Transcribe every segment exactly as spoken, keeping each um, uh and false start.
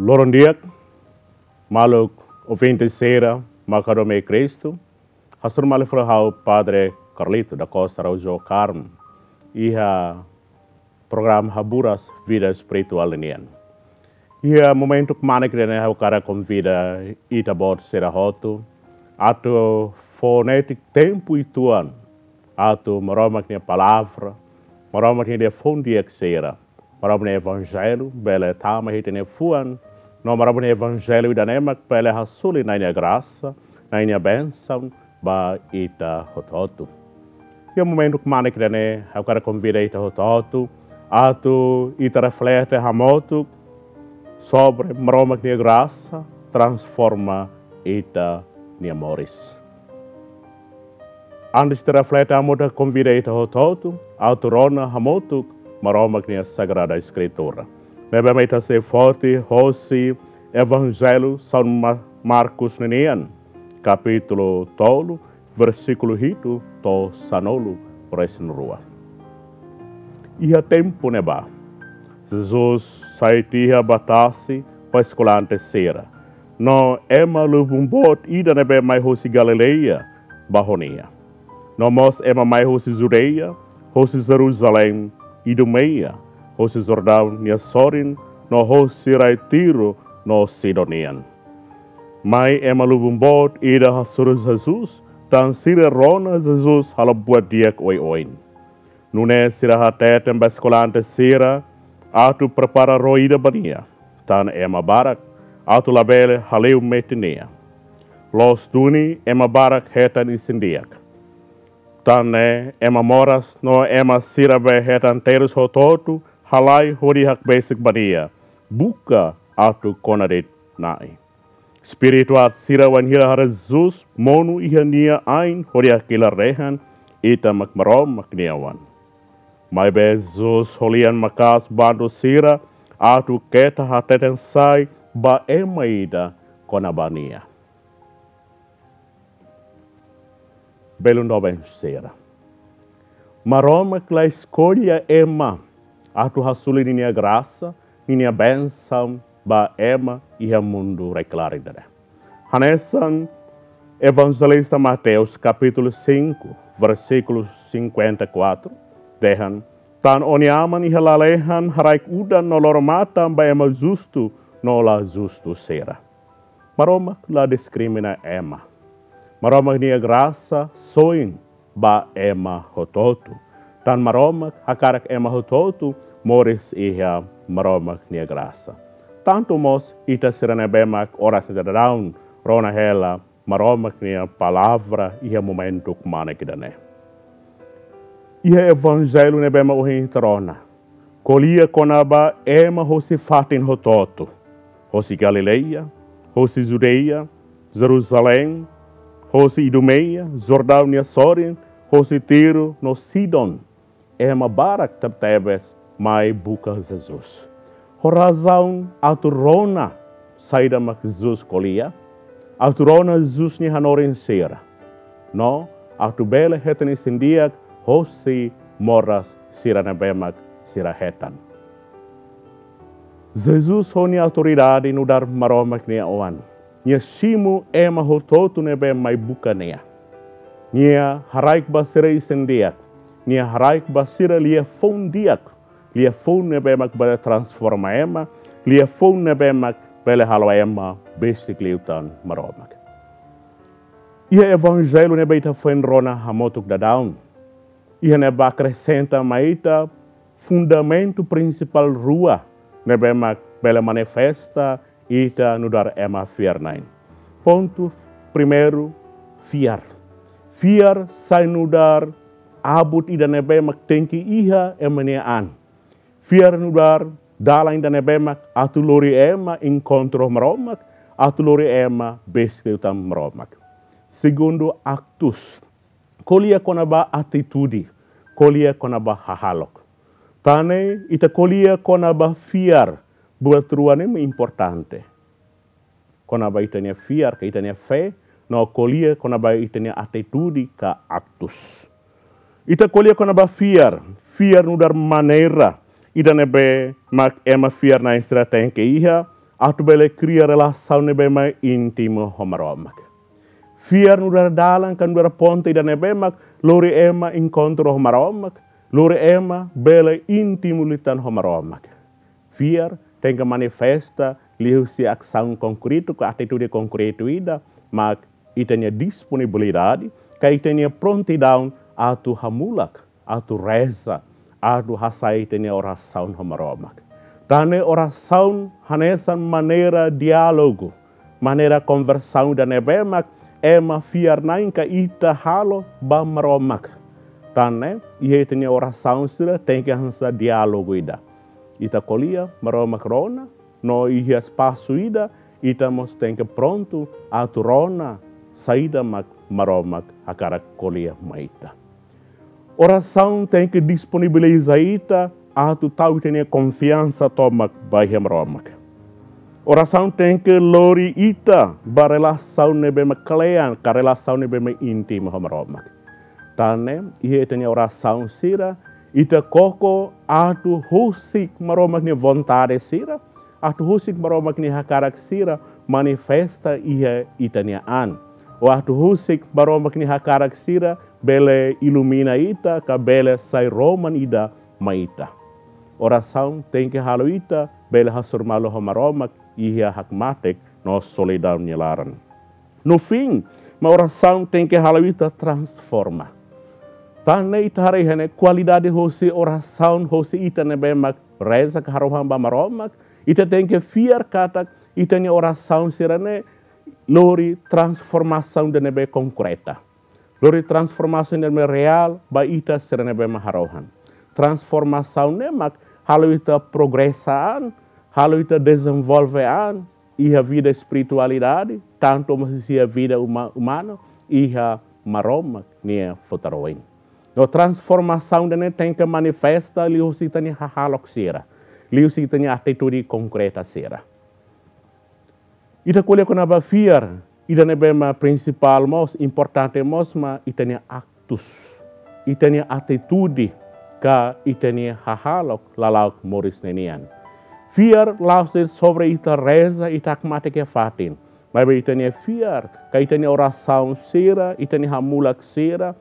Loron di'ak, maluk ouvinte sira, mak hadomi iha Kristu. Hasoru malu fali ha'u Padre Carlito da Costa Araújo Carmo, iha programa Haburas Vida Espirituál nian. Iha momentu kmanek ida-ne'e ha'u hakarak konvida ita-boot sira hotu atu fó netik tempu uitoan atu Maromak nia palavra, Maromak nia liafuan di'ak sira, Maromak nia evanjellu bele tama iha ita-nia fuan, no Maromak nia evanjellu ida-ne'e mak bele hasoru Na'i nia grasa, Na'i nia bensaun ba ita hotu-hotu. Iha momentu kmanek ida-ne'e ha'u hakarak konvida ita hotu-hotu atu ita reflete hamutuk sobre Maromak nia grasa transforma ita-nia moris. Antes de reflete hamutuk, konvida ita hotu-hotu atu rona hamutuk Maromak nia Sagrada Eskritura, ne'ebé mak ita sei foti hosi Evanjellu São Ma-, Marcos ninian, kapítulu tolu, versíkulu hitu to'o sanulu-resin-rua. Iha tempu ne'ebá, Jesus sai tiha ba tasi ho eskolante sira, no ema lubun boot ida ne'ebé mai hosi Galileia ba ho nia. No mós ema mai hosi Judeia, hosi Jerusalém, Idumeia, hosi Jordaun nia sorin, no hosi rai Tiro no Sidon nian. Mai ema lubun boot ida hasoru Jesus, tan sira rona Jesus halo buat di'ak oioin. Nune'e sira hateten ba eskolante sira atu prepara ró ida ba nia, tan ema barak atu labele hale'u metin nia. Loos duni ema barak hetan isin-di'ak. Tan ne'e ema moras no ema sira be hetan terus hotu-hotu halai hodi hakbesik ba nia, buka atu kona de'it Na'i. Espíritu aat sira wainhira haree Jesus monu iha nia ain hodi hakilar dehan, ita mak Maromak nia oan. Maibé Jesus ho lian maka'as bandu sira atu keta hateten sai ba ema ida kona-ba nia. Belun doben sira, Maromak la eskolla ema atu hasoru ninia grasa, ninia bensaun ba ema iha mundu rai-klaran ida-ne'e. Hanesan Evanjelista Mateus kapítulu cinco, versíkulu cinquenta e quatro, dehan, tan ó-nia Aman iha lalehan haraik udan no loro-matan ba ema justu no la justu sira. Maromak la diskrimina ema. Maromak nia grasa soin ba ema hotu-hotu. Tan Maromak hakarak ema hotu-hotu moris iha Maromak nia grasa. Tantu mós ita sira ne'ebé mak oras daudaun rona hela Maromak nia palavra iha momentu kmanek ida-ne'e. Iha evanjellu ne'ebé mak ohin ita rona, ko'alia kona-ba ema hosi fatin hotu-hotu, hosi Galileia, hosi Judeia, Jerusalém, hosi Idumeia, Jordaun nia sorin, hosi Tiro no Sidon. Ema barak tebetebes mai buka Jesus. Ho razaun atu rona saida mak Jesus ko'alia, atu rona Jesus nia hanorin sira, no atu bele hetan isin-di'ak hosi moras sira ne'ebé mak sira hetan. Jesus ho nia autoridade nu'udar Maromak nia Oan, nia simu ema hotu-hotu ne'ebé mai buka nia. Nia haraik ba sira isin-di'ak, nia haraik ba sira liafuan di'ak, liafuan ne'ebé mak bele transforma ema, liafuan ne'ebé mak bele halo ema besik liután Maromak. Iha evanjellu ne'ebé ita foin rona hamutuk daudaun, iha ne'ebá akresenta mai ita fundamentu prinsipál rua ne'ebé mak bele manifesta ita nu'udar ema fiar-na'in. Pontu primeiru, fiar. Fiar sai nu'udar abut ida ne'ebé mak tenke iha ema nia an. Fiar nu'udar dalan ida ne'ebé mak atu lori ema enkontru Maromak, atu lori ema besik liután Maromak. Segundu, aktus. Ko'alia kona-ba atitude, ko'alia kona-ba hahalok. Tan ne'e ita ko'alia kona-ba fiar, buat rua ne'e importante. Kona-ba ita-nia fiar, ka ita-nia fé, no ko'alia kona-ba ita-nia atitude ka aktus. Ita ko'alia kona-ba fiar, fiar nu'udar maneira ida ne'ebé mak ema fiar-na'in sira tenke iha, atu bele kria relasaun ne'ebé mak íntimu ho Maromak. Fiar nu'udar dalan ka nu'udar ponte ida ne'ebé mak lori ema enkontru ho Maromak, lori ema bele íntimu liután ho Maromak. Fiar tenke manifesta liuhusi asaun konkretu ka atitude konkretu ida, mak ita-nia disponibilidade ka ita-nia prontidaun atu hamulak, atu reza, atu hasa'e ita-nia orasaun ho Maromak. Tan ne'e orasaun hanesan maneira diálogu, maneira konversaun ida ne'ebé mak ema fiar-na'in ka ita halo ba Maromak. Tan ne'e iha ita-nia orasaun sira tenke hanesan diálogu ida. Ita ko'alia, Maromak rona, no iha espasu ida, ita mós tenke prontu atu rona saida mak Maromak hakarak ko'alia mai ita. Orasaun tenke disponibiliza ita atu tau ita-nia konfiansa tomak ba iha Maromak. Orasaun tenke lori ita ba relasaun ne'ebé mak kle'an, ka relasaun ne'ebé mak íntimu ho Maromak. Tan ne'e iha ita-nia orasaun sira, ita koko atu husik Maromak nia vontade sira, atu husik Maromak nia hakarak sira manifesta iha ita-nia an. Ou atu husik Maromak nia hakarak sira bele ilumina ita, ka bele sai roman ida mai ita. Orasaun tenke halo ita bele hasoru malu ho Maromak iha hakmatek no solidaun nia laran. No fim, mak orasaun tenke halo ita transforma. Tan ne'e ita haree iha ne'e kualidade hosi orasaun hosi ita ne'ebé mak reza ka harohan ba Maromak, ita tenke fiar katak ita-nia orasaun sira-ne'e lori transformasaun ida ne'ebé konkreta. Lori transformasaun ida ne'ebé reál ba ita sira ne'ebé mak harohan. Transformasaun ne'e mak halo ita progresa an, halo ita dezenvolve an iha vida espiritualidade, tantu mós iha vida uma-, umana, iha Maromak nia futar oin. No transformasaun ida-ne'e tenke manifesta liuhusi ita-nia hahalok sira, liuhusi ita-nia atitude konkreta sira. Ita ko'alia kona-ba fiar, ida ne'ebé mak prinsipál mós, importante mós mak ita-nia aktus, ita-nia atitude, ka ita-nia hahalok lala'ok moris ninian. Fiar la'ós de'it sobre ita reza, ita hakmatek iha fatin. Maibé ita-nia fiar, ka ita-nia orasaun sira, ita-nia hamulak sira,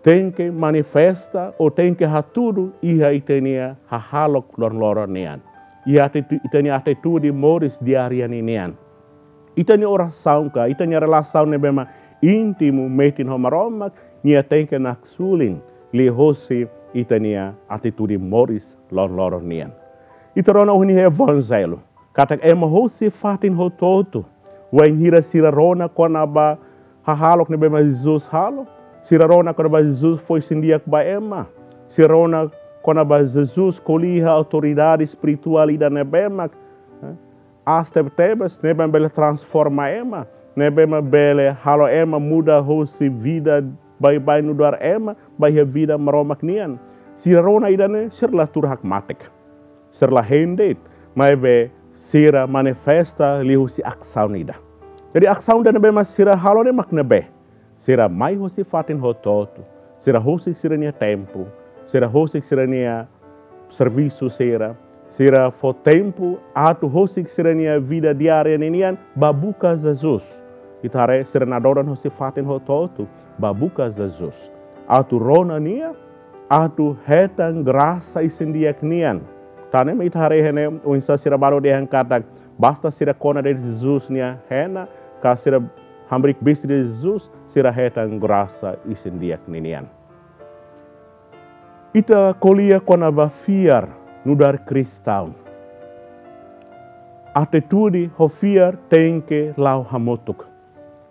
tenke manifesta ou tenke hatudu iha ita-nia hahalok loron-loron nian. Iha atitu-, ita-nia atitude moris diária ninian. Ita-nia orasaun ka, ita-nia relasaun ne'ebé mak íntimu metin ho Maromak, nia tenke naksulin liuhosi ita-nia atitude moris loron-loron nian. Ita rona ohin iha evanjellu katak ema hosi fatin hotu-hotu, wainhira sira rona kona-ba hahalok ne'ebé mak Jesus halo, sira rona kona-ba Jesus fó isin-di'ak ba ema, sira rona kona-ba Jesus ko'alia iha autoridade espirituál ida ne'ebé mak, eh, aas tebetebes, ne'ebé mak bele transforma ema, ne'ebé mak bele halo ema muda hosi vida baibain nu'udar ema, ba iha vida Maromak nian. Sira rona ida-ne'e, sira la tuur hakmatek. Sira la hein de'it, maibé sira manifesta liuhusi asaun ida. Jadi asaun ida ne'ebé mak sira halo ne'e mak ne'ebé? Sira mai hosi fatin hotu-hotu. Sira husik sira-nia tempu. Sira husik sira-nia servisu sira. Sira fó tempu atu husik sira-nia vida diária ninian ba buka Jesus. Ita haree sira nadoran hosi fatin hotu-hotu ba buka Jesus. Atu rona nia, atu hetan grasa isin-di'ak nian. Tan ne'e mak ita haree iha ne'e oinsá sira balu dehan katak basta sira kona de'it Jesus nia hena, ka sira hamriik bisti de'it Jesus, sira hetan grasa isin-di'ak ninian. Ita ko'alia kona-ba fiar nu'udar kristaun. Atitude ho fiar tenke la'o hamutuk.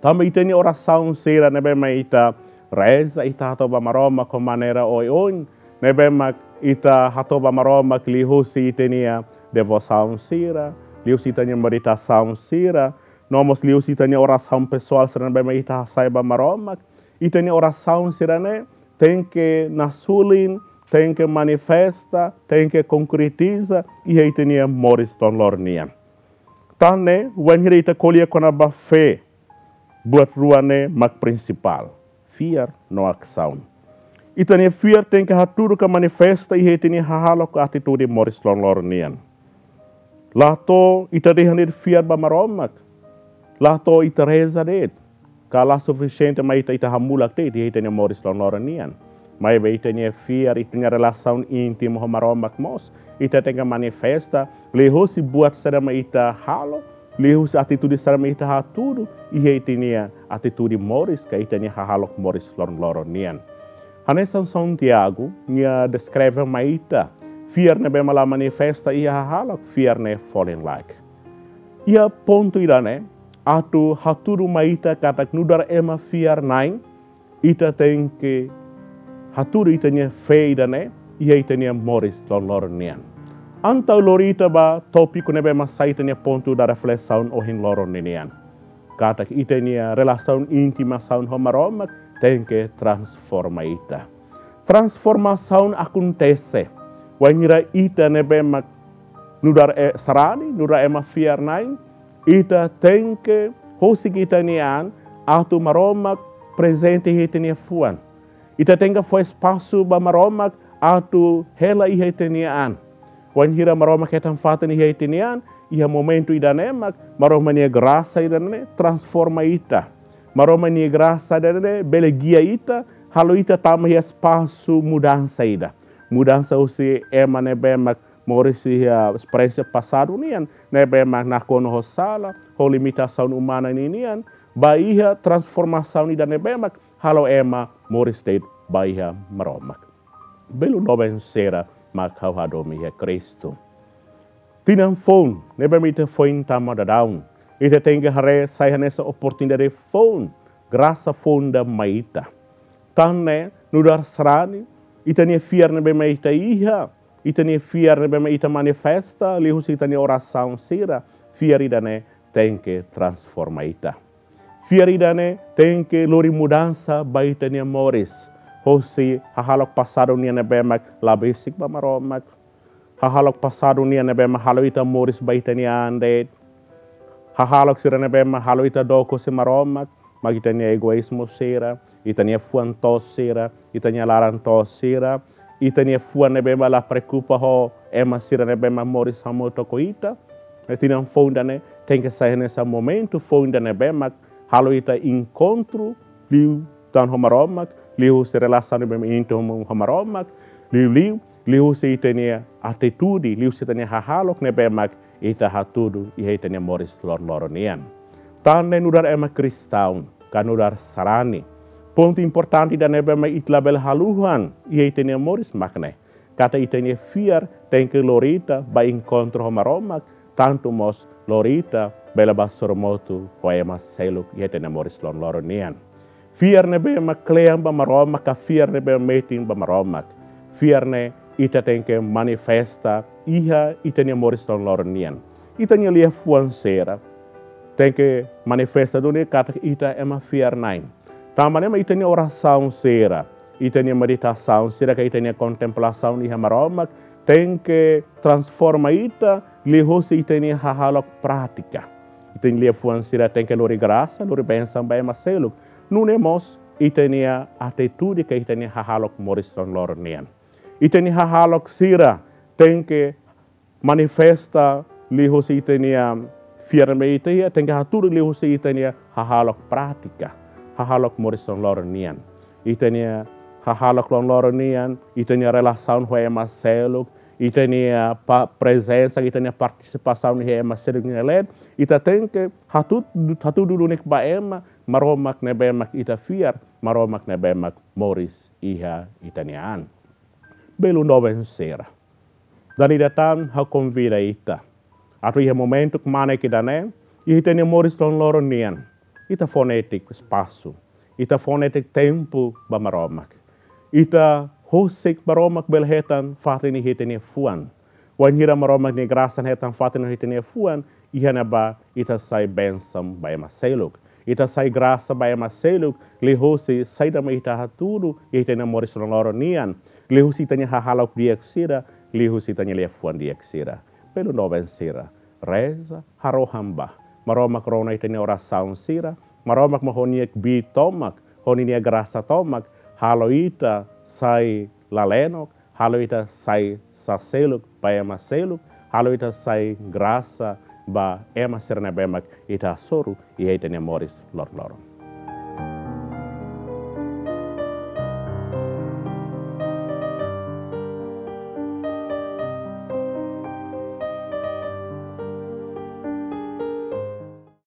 Tanba ita-nia orasaun sira ne'ebé mak ita reza, ita hato'o ba Maromak ho maneira oioin, ne'ebé mak ita hato'o ba Maromak liuhusi ita-nia devosaun sira, liuhusi ita-nia meditasaun sira, no mós liuhusi ita-nia orasaun pesoál sira ne'ebé mak ita hasa'e ba Maromak. Ita-nia orasaun sira-ne'e tenke naksulin, tenke manifesta, tenke konkretiza iha ita-nia moris loron-loron nian. Tan ne'e, wainhira ita ko'alia kona-ba fé, buat rua ne'e mak prinsipál, fiar no asaun. Ita-nia fiar tenke hatudu ka manifesta iha ita-nia hahalok ka atitude moris loron-loron nian. La to'o ita dehan de'it fiar ba Maromak, la to'o ita reza de'it, ka la sufisiente mai ita, ita hamulak de'it iha ita-nia moris loron-loron nian. Maibé ita-nia fiar, ita-nia relasaun íntima ho Maromak mós ita tenke manifesta liuhusi buat saida mak ita halo, liuhusi atitude saida mak ita hatudu iha ita-nia atitude moris ka ita-nia hahalok moris loron-loron nian. Hanesan São Tiago, nia deskreve mai ita, fiar ne'ebé mak la manifesta iha hahalok, fiar ne'e folin-laek. Iha pontu ida-ne'e, atu hatudu mai ita katak nu'udar ema fiar-na'in, ita tenke hatudu ita-nia fé ida-ne'e iha ita-nia moris loron-loron nian. Entaun lori ita ba tópiku ne'ebé mak sai ita-nia pontu da reflesaun ohin loron ninian. Katak ita-nia relasaun íntima ho Maromak tenke transforma ita. Transformasaun akontese wainhira ita ne'ebé mak nu'udar e-, sarani, nu'udar ema fiar-na'in, ita tenke husik ita-nia an atu Maromak prezente iha ita-nia fuan. Ita tenke fó espasu ba Maromak atu hela iha ita-nia an. Wainhira Maromak hetan fatin iha ita-nia an, iha momentu ida-ne'e mak Maromak nia grasa ida-ne'e transforma ita. Maromak nia grasa ida-ne'e bele gia ita, halo ita tama iha espasu mudansa ida. Mudansa husi ema ne'ebé mak moris iha esperiénsia pasadu nian, ne'ebé mak nakonu ho sala, ho limitasaun umana ninian, ba iha transformasaun ida ne'ebé mak halo ema moris de'it ba iha Maromak. Belun doben sira mak ha'u hadomi iha Kristu. Tinan foun ne'ebé mak ita foin tama daudaun, ita tenke haree sai hanesan oportunidade foun, grasa foun ida mai ita. Tan ne'e nu'udar sarani, ita-nia fiar ne'ebé mak ita iha, ita-nia fiar ne'ebé mak ita manifesta liuhusi ita-nia orasaun sira, fiar ida-ne'e tenke transforma ita. Fiar ida-ne'e tenke lori mudansa ba ita-nia moris. Husi hahalok pasadu nian ne'ebé mak la besik ba Maromak. Hahalok pasadu nian ne'ebé mak halo ita moris ba ita-nia an de'it. Hahalok sira ne'ebé mak halo ita dook husi Maromak, mak ita-nia egoízmu sira, ita-nia fuan toos sira, ita-nia laran toos sira, ita-nia fuan ne'ebé mak la preokupa ho ema sira ne'ebé mak moris hamutuk ho ita. Tinan foun ida-ne'e tenke sai hanesan momentu foun ida ne'ebé mak halo ita enkontru liután ho Maromak, liuhusi relasaun ne'ebé mak íntimu ho Maromak, liuliu liuhusi ita-nia atitude, liuhusi ita-nia hahalok ne'ebé mak ita hatudu iha ita-nia moris loron-loron nian. Tan ne'e nu'udar ema kristaun, ka nu'udar sarani, pontu importante ida ne'ebé mak ita labele haluha iha ita-nia moris mak ne'e, katak ita-nia fiar tenke lori ita ba enkontru ho Maromak, tantu mós lori ita bele ba sorumutu ho ema seluk iha ita-nia moris loron-loron nian. Fiar ne'ebé mak kle'an ba Maromak, ka fiar ne'ebé metin ba Maromak, fiar ne'e ita tenke manifesta iha ita-nia moris loron-loron nian. Ita-nia liafuan sira tenke manifesta duni katak ita ema fiar-na'in. Tanba ne'e mak ita-nia orasaun sira, ita-nia meditasaun sira ka ita-nia kontemplasaun iha Maromak tenke transforma ita liuhusi ita-nia hahalok prátika. Ita-nia liafuan sira tenke lori grasa, lori bensaun ba ema seluk. Nune'e mós ita-nia atitude ka ita-nia hahalok moris loron-loron nian. Ita-nia hahalok sira tenke manifesta liuhusi ita-nia fiar ne'ebé ita iha, tenke hatudu liuhusi ita-nia hahalok prátika, hahalok moris loron-loron nian. Ita-nia hahalok loron-loron nian, ita-nia relasaun ho ema seluk, ita-nia pa-, prezensa, ita-nia partisipasaun iha ema seluk nia leet, ita tenke hatudu, hatudu duni ba ema, Maromak ne'ebé mak ita fiar, Maromak ne'ebé mak moris iha ita-nia an. Belun doben sira. Dala ida tan ha'u konvida ita atu iha momentu kmanek ida-ne'e, iha ita-nia moris loron-loron nian, ita fó netik espasu, ita fó netik tempu ba Maromak. Ita husik Maromak bele hetan fatin iha ita-nia fuan. Wainhira Maromak nia grasa hetan fatin iha ita-nia fuan, iha ne'ebá ita sai bensaun ba ema seluk. Ita sai grasa ba ema seluk, liuhusi saida mak ita hatudu iha ita-nia moris loron-loron nian, liuhusi ita-nia hahalok di'ak sira, liuhusi ita-nia liafuan di'ak sira. Belun doben sira, reza, harohan ba Maromak rona ita-nia orasaun sira, Maromak mak ho nia kbiit tomak, ho nia grasa tomak, halo ita sai lalenok, halo ita sai saseluk ba ema seluk, halo ita sai grasa ba ema sira ne'ebé mak ita hasoru iha ita-nia moris loron-loron.